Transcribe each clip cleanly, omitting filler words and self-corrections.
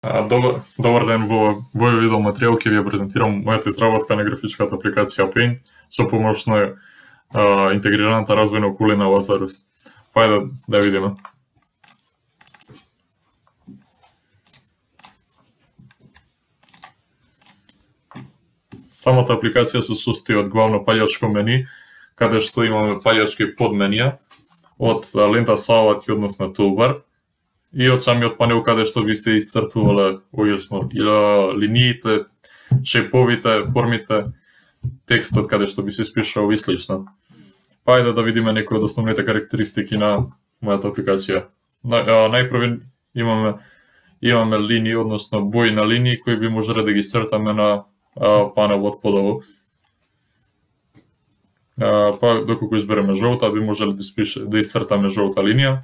Добар ден, во овој видео материјал ќе ви ја презентирам мојата изработка на графичката апликација Paint со помош на интегрираната развојна околина Lazarus. Ајде да видиме. Самата апликација се состои од главно паѓачко мени, каде што имаме паѓачки подменија од лента славатки, односно toolbar, и од самиот панел каде што би се исцртувале ојачно линиите, шеповите, формите, текстот каде што би се испишал и слично. Ајде да видиме некои од основните карактеристики на мојата апликација. Најпрво имаме линии, односно бои на линии кои би можеле да ги исцртаме на панелот подолу. Доколку избереме жолта, би можеле да исцртаме жолта линија.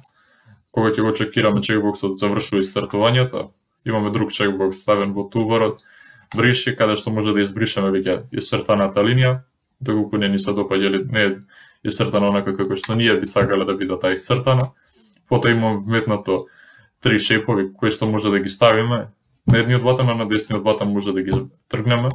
Кога ќе го чекираме чекбоксот завршува исцртувањето, имаме друг чекбокс ставен во тулбарот, бриши, каде што може да избришеме веќе исцртаната линија, доколку не ни се допаѓа или не е исцртана онака како што ние би сакале да биде таа исцртана. Потоа имаме вметнато три шепови кои што може да ги ставиме на едниот батон, а на десниот батон може да ги тргнеме.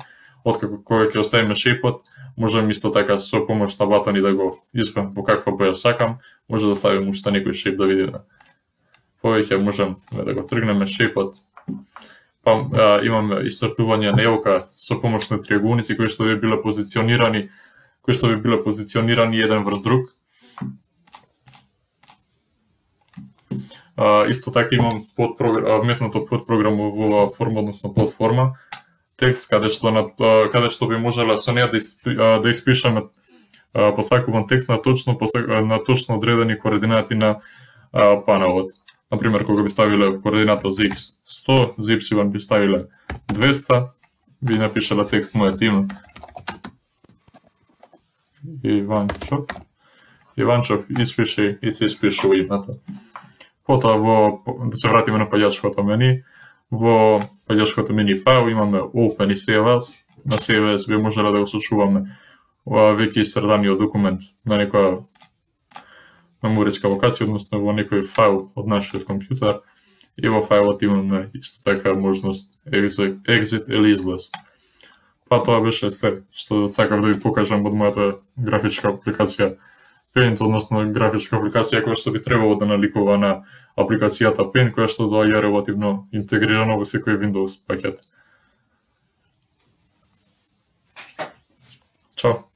Откако кога ќе оставиме шепот, можеме исто така со помош на батони да го изберам во каква боја сакам, може да ставиме уште некој шеп да видиме. Повеќе можеме да го тргнеме шепот. Имаме исцртување на елка со помош на триаголници кои што би биле позиционирани еден врз друг. Исто така имам вметнато подпрограма во форма, односно подформа текст каде што би можеле со неа да испишеме посакуван текст на точно одредени координати на панелот. Например, кога би ставиле координата за x 100, за y би ставиле 200, би напишале текст мојот име. Иванчов испише и се испишува името. Потоа да се вратиме на паѓачкото мени. Во паѓачкото мени файл имаме Open и Save As. На Save As би можеле да го сочуваме веќе исцртаниот документ на некоја мемориска локација, односно во некој файл од нашиот компјутер. И во фајлот имаме исто така можност Exit или излез. Тоа беше се што сакав да ви покажам од мојата графичка апликација Paint, односно графичка апликација која што би требало да наликува на апликацијата Paint, која што доаѓа релативно интегрирано во секој Windows пакет. Чао!